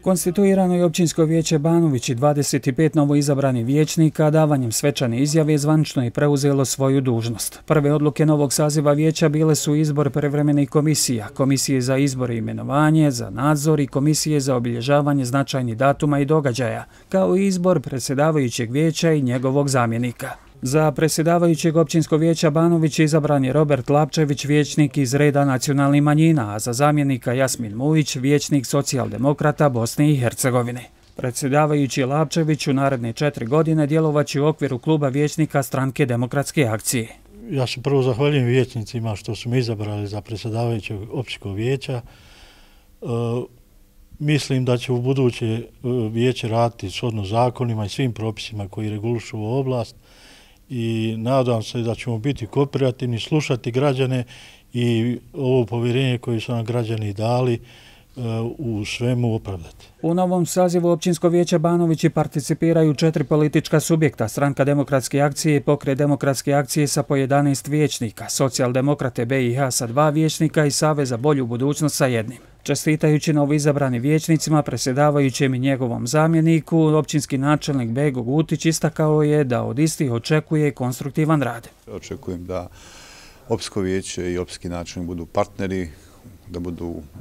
Konstituirano je općinsko vijeće Banović i 25 novoizabranih vijećnika davanjem svečane izjave zvanično je preuzelo svoju dužnost. Prve odluke novog saziva vijeća bile su izbor privremenih komisija, komisije za izbor i imenovanje, za nadzor i komisije za obilježavanje značajnih datuma i događaja, kao i izbor predsjedavajućeg vijeća i njegovog zamjenika. Za predsjedavajućeg općinskog vijeća Banović izabran je Robert Lapčević, vijećnik iz reda nacionalnih manjina, a za zamjenika Jasmin Mujić, vijećnik socijaldemokrata Bosne i Hercegovine. Predsjedavajući Lapčević u naredne 4 godine djelovaće u okviru kluba vijećnika Stranke demokratske akcije. Ja se prvo zahvaljujem vijećnicima što su me izabrali za predsjedavajućeg općinskog vijeća. Mislim da će u buduće vijeće raditi shodno zakonima i svim propisima koji regulišu ovu oblast i nadam se da ćemo biti kooperativni, slušati građane i ovo povjerenje koje su nam građani dali u svemu opravdati. U novom sazivu općinskog vijeća Banovići participiraju 4 politička subjekta, Stranka demokratske akcije i Pokret demokratske akcije sa po 11 vijećnika, Socijaldemokrate BiH sa 2 vijećnika i Savez za bolju budućnost sa 1. Čestitajući novoizabranim vijećnicima, predsjedavajućem i njegovom zamjeniku, općinski načelnik Bego Gutić istakao je da od istih očekuje konstruktivan rad. Očekujem da općinsko vijeće i općinski načelnik budu partneri,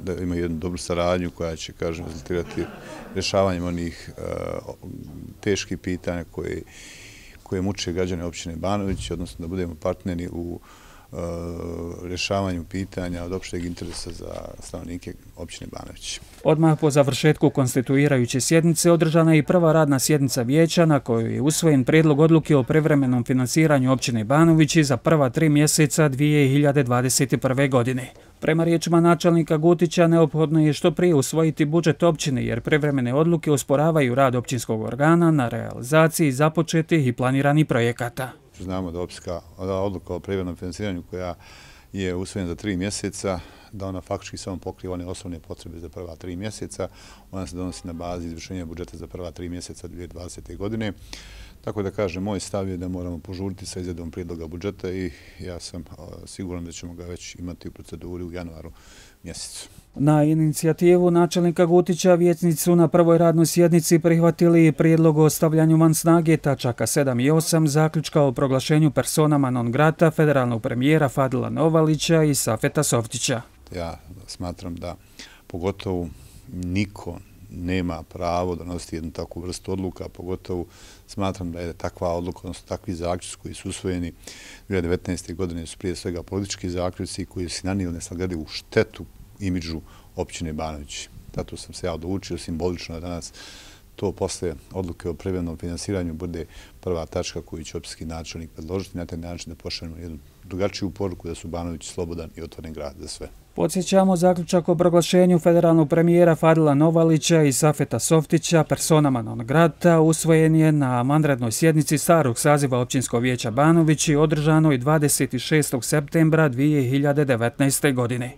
da imaju jednu dobru saradnju koja će, rezultirati rješavanjem onih teških pitanja koje muče građane općine Banović, odnosno da budemo partneri u rješavanju pitanja od opšteg interesa za stanovnike općine Banović. Odmah po završetku konstituirajuće sjednice održana je i prva radna sjednica vijeća na kojoj je usvojen prijedlog odluke o privremenom finansiranju općine Banovići za prva 3 mjeseca 2021. godine. Prema riječima načelnika Gutića, neophodno je što prije usvojiti budžet općine jer privremene odluke usporavaju rad općinskog organa na realizaciji započetih i planiranih projekata. Znamo da odluka o privremenom finansiranju koja je usvojena za 3 mjeseca, da ona faktički samo pokriva one osnovne potrebe za prva 3 mjeseca. Ona se donosi na bazi izvršenja budžeta za prva 3 mjeseca 2020. godine. Tako da kažem, moj stav je da moramo požuriti sa izradom prijedloga budžeta i ja sam siguran da ćemo ga već imati u proceduri u januaru mjesecu. Na inicijativu načelnika Gutića vijećnici su na prvoj radnoj sjednici prihvatili prijedlog o stavljanju van snage tačaka 7 i 8 zaključka o proglašenju personama non grata federalnog premijera Fadila Novalića i Safeta Softića. Ja smatram da pogotovo niko nema pravo donositi jednu takvu vrstu odluka, pogotovo smatram da je takva odluka, odnosno takvi zaključci koji su usvojeni 2019. godine su prije svega politički zaključci koji su nanijeli nesagledivu štetu imidžu općine Banović. Zato sam se ja odlučio simbolično da danas to posle odluke o privremenom finansiranju bude prva tačka koju će općinski načelnik predložiti na taj način da pošaljemo jednu drugačiju poruku da su Banović slobodan i otvoren grad za sve. Podsjećamo, zaključak o proglašenju federalnog premijera Fadila Novalića i Safeta Softića personama non grata usvojen je na vanrednoj sjednici starog saziva općinskog vijeća Banović i održanoj 26. septembra 2019. godine.